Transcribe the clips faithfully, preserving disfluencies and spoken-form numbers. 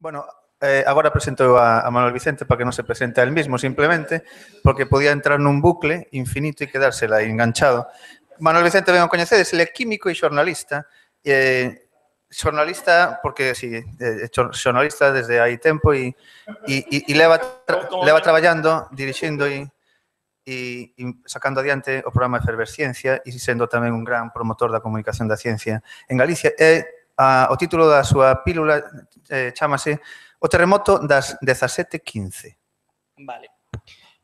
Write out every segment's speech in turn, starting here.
Bueno, eh, agora presento a, a Manuel Vicente para que non se presente a él mismo, simplemente, porque podía entrar nun bucle infinito e quedársela enganchado. Manuel Vicente, ben o coñecedes, ele é químico e xornalista. Eh, xornalista, porque, si, eh, xornalista desde hai tempo e, e, e leva, tra, leva traballando, dirixindo e, e, e sacando adiante o programa Efervesciencia e sendo tamén un gran promotor da comunicación da ciencia en Galicia. E a, o título da súa pílula eh, chámase O terremoto das dezasete quince. Vale.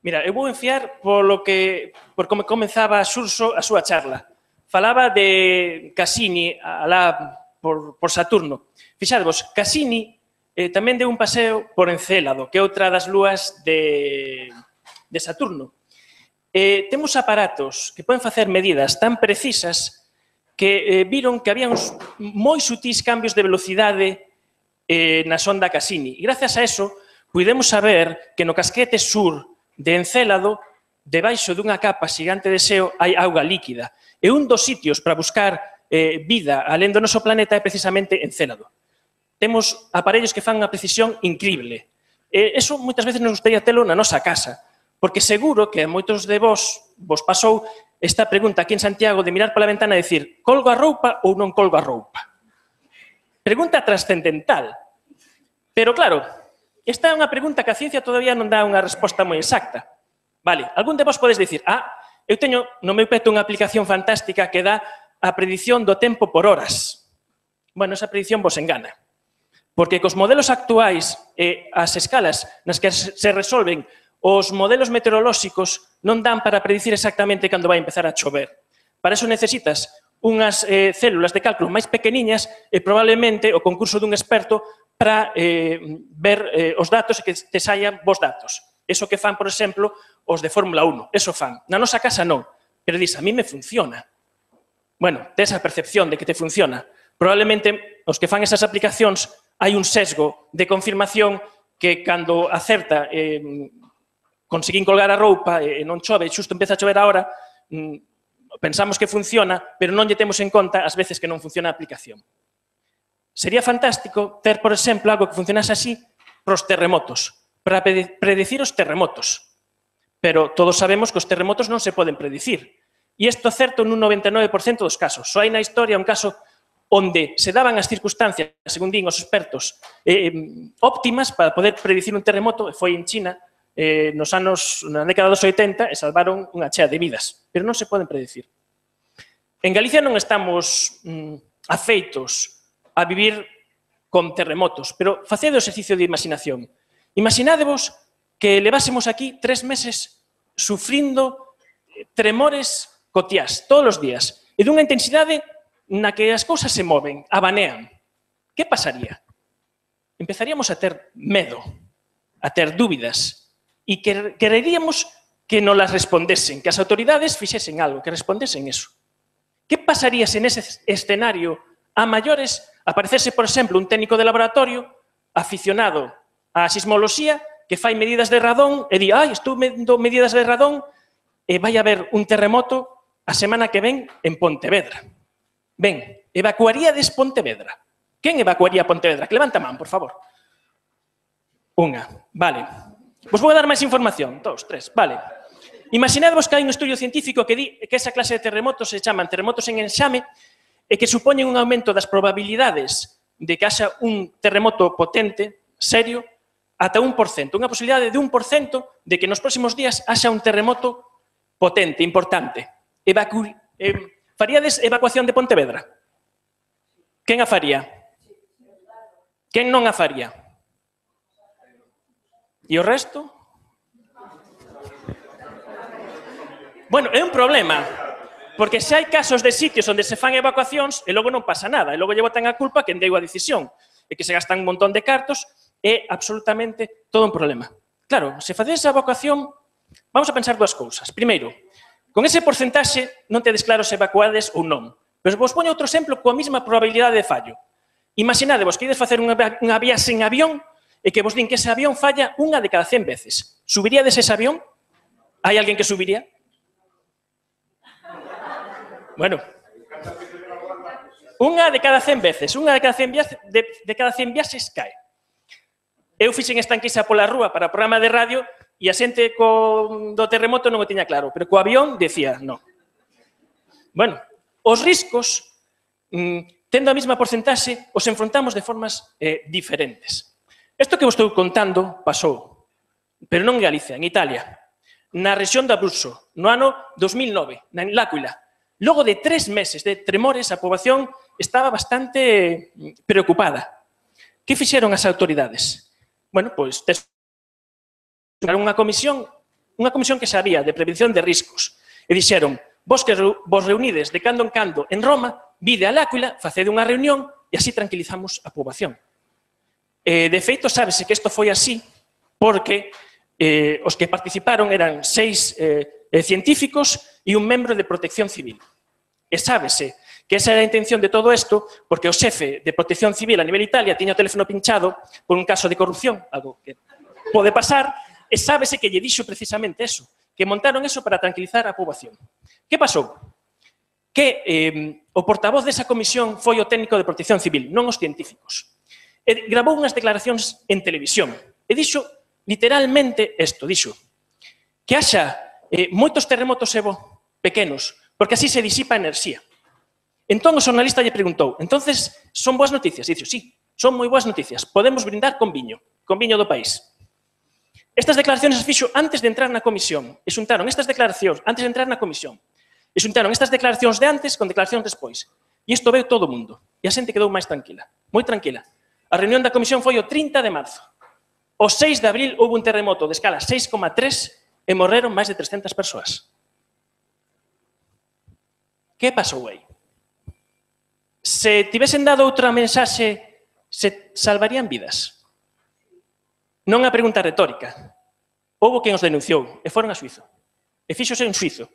Mira, eu vou enfiar polo que, por como comenzaba Xurxo a súa charla. Falaba de Cassini alá por, por Saturno. Fixadvos, Cassini eh, tamén deu un paseo por Encélado, que é outra das lúas de, de Saturno. Eh, temos aparatos que poden facer medidas tan precisas que eh, viron que había uns moi sutís cambios de velocidade eh, na sonda Cassini. E gracias a eso, pudemos saber que no casquete sur de Encélado, debaixo dunha capa xigante de xeo, hai auga líquida. E un dos sitios para buscar eh, vida alén do noso planeta é precisamente Encélado. Temos aparellos que fan unha precisión increíble. E eso moitas veces nos gustaría telo na nosa casa, porque seguro que a moitos de vos vos pasou esta pregunta aquí en Santiago de mirar pola ventana e dicir colgo a roupa ou non colgo a roupa. Pregunta trascendental. Pero claro, esta é unha pregunta que a ciencia todavía non dá unha resposta moi exacta. Vale, algún de vos podes dicir, ah, eu teño no meu peto unha aplicación fantástica que dá a predición do tempo por horas. Bueno, esa predición vos engana. Porque cos modelos actuais e as escalas nas que se resolven os modelos meteorolóxicos non dan para predicir exactamente cando vai empezar a chover. Para eso necesitas unhas eh, células de cálculo máis pequeniñas e probablemente o concurso dun experto para eh, ver eh, os datos e que te saian vos datos. Eso que fan, por exemplo, os de Fórmula uno. Eso fan. Na nosa casa non. Pero dis, a mí me funciona. Bueno, tes a percepción de que te funciona. Probablemente os que fan esas aplicacións hai un sesgo de confirmación que cando acerta eh, conseguín colgar a roupa e non chove, xusto empeza a chover agora, pensamos que funciona, pero non lle temos en conta as veces que non funciona a aplicación. Sería fantástico ter, por exemplo, algo que funcionase así para os terremotos, para predecir os terremotos. Pero todos sabemos que os terremotos non se poden predicir. E isto é certo nun noventa e nove por cento dos casos. Só hai na historia un caso onde se daban as circunstancias, según din os expertos, eh, óptimas para poder predicir un terremoto, e foi en China, eh, nos anos, na década dos oitenta, e salvaron unha chea de vidas. Pero non se poden predicir. En Galicia non estamos mm, afeitos a vivir con terremotos, pero facede o exercicio de imaginación. Imaginádevos que levásemos aquí tres meses sufrindo tremores cotiás, todos os días, e dunha intensidade na que as cousas se moven, abanean. Que pasaría? Empezaríamos a ter medo, a ter dúbidas, e que quereríamos que nos las respondesen, que as autoridades fixesen algo, que respondesen eso. Que pasaría se nese escenario a maiores aparecerse, por exemplo, un técnico de laboratorio aficionado á sismoloxía que fai medidas de radón e di, ai, estou vendo medidas de radón e vai haber un terremoto a semana que ven en Pontevedra. Ben, evacuaríades Pontevedra. Quen evacuaría Pontevedra? Que levanta a man, por favor. Unha, vale. Vos vou dar máis información. Dos, tres, vale. Imaginadvos que hai un estudio científico que di que esa clase de terremotos se chaman terremotos en enxame e que supoñen un aumento das probabilidades de que haxa un terremoto potente, serio, ata un por cento. Unha posibilidade de un por cento de que nos próximos días haxa un terremoto potente, importante. Evacu eh, faríades evacuación de Pontevedra? Quen a faría? Quen non a faría? E o resto? Bueno, é un problema. Porque se hai casos de sitios onde se fan evacuacións e logo non pasa nada, e logo lle botan a culpa quen deu a decisión, e que se gastan un montón de cartos, é absolutamente todo un problema. Claro, se facedes a evacuación, vamos a pensar dúas cousas. Primeiro, con ese porcentaxe non tedes claro se evacuades ou non. Pero vos poño outro exemplo coa mesma probabilidade de fallo. Imaginadevos que ides facer unha, unha viaxe en avión e que vos din que ese avión falla unha de cada cen veces. Subiríades ese avión? Hai alguén que subiría? Bueno, unha de cada cen veces, unha de cada cen viaxes, de, de cada cen viaxes cae. Eu fixen esta enquisa pola rúa para o programa de radio e a xente do terremoto non o tiña claro, pero co avión decía non. Bueno, os riscos, tendo a mesma porcentaxe, os enfrontamos de formas diferentes. Isto que vos estou contando pasou, pero non en Galicia, en Italia, na rexión de Abruzzo, no ano dos mil nove, na L'Aquila. Logo de tres meses de tremores, a poboación estaba bastante preocupada. Que fixeron as autoridades? Bueno, pois, unha comisión, unha comisión que sabía de prevención de riscos. E dixeron, vos que vos reunides de cando en cando en Roma, vide a L'Aquila, facede unha reunión e así tranquilizamos a poboación. De feito, sábese que isto foi así porque os que participaron eran seis científicos e un membro de Protección Civil. E sábese que esa era a intención de todo isto, porque o xefe de Protección Civil a nivel Italia tiña o teléfono pinchado por un caso de corrupción, algo que pode pasar, e sábese que lle dixo precisamente eso, que montaron eso para tranquilizar a poboación. Que pasou? Que eh, o portavoz desa comisión foi o técnico de Protección Civil, non os científicos. E gravou unhas declaracións en televisión, e dixo literalmente isto, dixo que haxa eh, moitos terremotos e bo, pequenos, porque así se disipa a enerxía. Entón o xornalista lle preguntou, entonces, son boas noticias? E dixo, sí, son moi boas noticias, podemos brindar con viño, con viño do país. Estas declaracións as fixo antes de entrar na comisión, e xuntaron estas declaracións antes de entrar na comisión, e xuntaron estas declaracións de antes con declaracións despois. E isto veu todo o mundo, e a xente quedou máis tranquila, moi tranquila. A reunión da comisión foi o trinta de marzo. O seis de abril houve un terremoto de escala seis coma tres e morreron máis de trescentas persoas. Que pasou aí? Se tivesen dado outra mensaxe, se salvarían vidas? Non é a pregunta retórica. Houve quen os denunciou e foron a Suizo. E fíxose un suizo.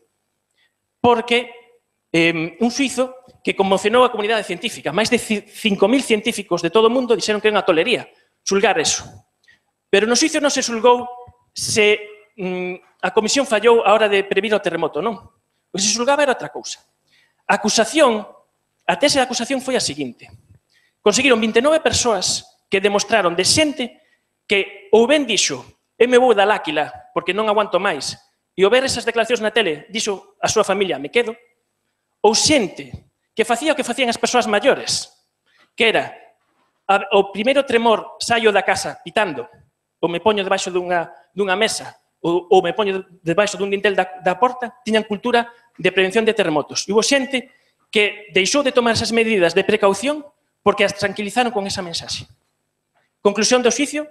Porque eh, un suizo que conmocionou a comunidade científica. Máis de cinco mil científicos de todo o mundo dixeron que é unha tolería xulgar eso. Pero no suizo non se xulgou se mm, a comisión fallou a hora de previr o terremoto, non. O que se xulgaba era outra cousa. A acusación, a tese de acusación foi a seguinte. Conseguiron vinte e nove persoas que demostraron de xente que ou ben dixo eu me vou da L'Aquila porque non aguanto máis e ao ver esas declaracións na tele dixo a súa familia me quedo, ou xente que facía o que facían as persoas maiores, que era o primeiro tremor saio da casa pitando ou me poño debaixo dunha, dunha mesa ou, ou me poño debaixo dun dintel da, da porta, tiñan cultura de prevención de terremotos. E houve xente que deixou de tomar esas medidas de precaución porque as tranquilizaron con esa mensaxe. Conclusión do xuicio,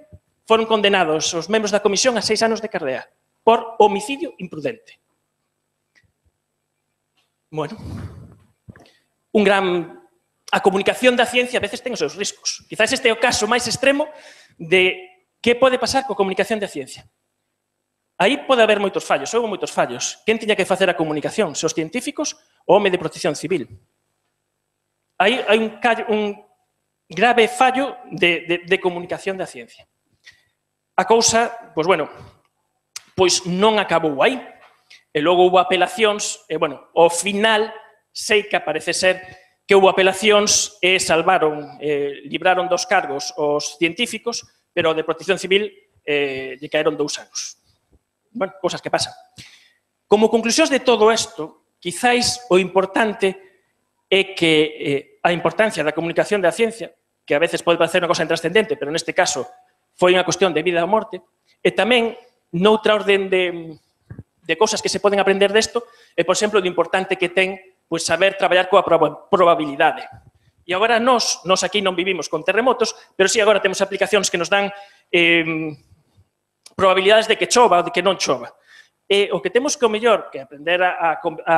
foron condenados os membros da comisión a seis anos de cardea por homicidio imprudente. Bueno, un gran... A comunicación da ciencia a veces ten os seus riscos. Quizás este é o caso máis extremo de que pode pasar coa comunicación da ciencia. Aí pode haber moitos fallos, houve moitos fallos. Quen tiña que facer a comunicación? Se os científicos ou o home de Protección Civil? Aí hai un, un grave fallo de, de, de comunicación da ciencia. A cousa, pois bueno, pois non acabou aí. E logo houve apelacións, e bueno, ao final sei que parece ser que houve apelacións e salvaron, eh, libraron dos cargos os científicos, pero o de Protección Civil eh, lle caeron dous anos. Bueno, cousas que pasan. Como conclusións de todo isto, quizáis o importante é que eh, a importancia da comunicación da ciencia, que a veces pode parecer unha cosa intrascendente, pero neste caso foi unha cuestión de vida ou morte, e tamén noutra orden de, de cousas que se poden aprender desto, é, por exemplo, do importante que ten pois saber traballar coa probabilidade. E agora nós, nós aquí non vivimos con terremotos, pero sí agora temos aplicacións que nos dan eh, probabilidades de que chova ou de que non chova. E o que temos que o mellor que aprender a, a, a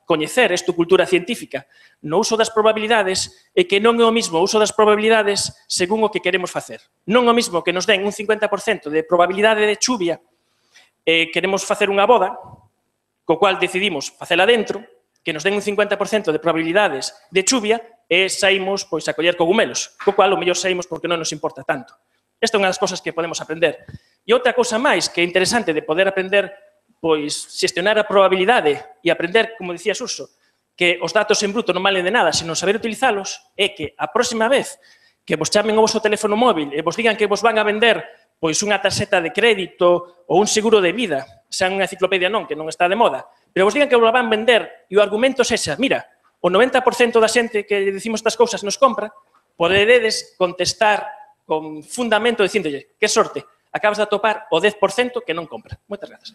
coñecer esta cultura científica no uso das probabilidades é que non é o mismo o uso das probabilidades según o que queremos facer. Non é o mismo que nos den un cincuenta por cento de probabilidade de chuvia e queremos facer unha boda, co cual decidimos facela dentro, que nos den un cincuenta por cento de probabilidades de chuvia e saímos pois, a coller cogumelos, co cual o mellor saímos porque non nos importa tanto. Esta é unha das cosas que podemos aprender. E outra cousa máis que é interesante de poder aprender, pois, xestionar a probabilidade e aprender, como dicía Suso, que os datos en bruto non valen de nada, senón saber utilizalos, é que a próxima vez que vos chamen o vosso teléfono móvil e vos digan que vos van a vender pois unha tarxeta de crédito ou un seguro de vida, xa unha enciclopedia non, que non está de moda, pero vos digan que vos la van vender e o argumento sexa, mira, o noventa por cento da xente que decimos estas cousas nos compra, poderedes contestar con fundamento dicíndolle, que sorte, acabas de atopar o dez por cento que non compra. Moitas grazas.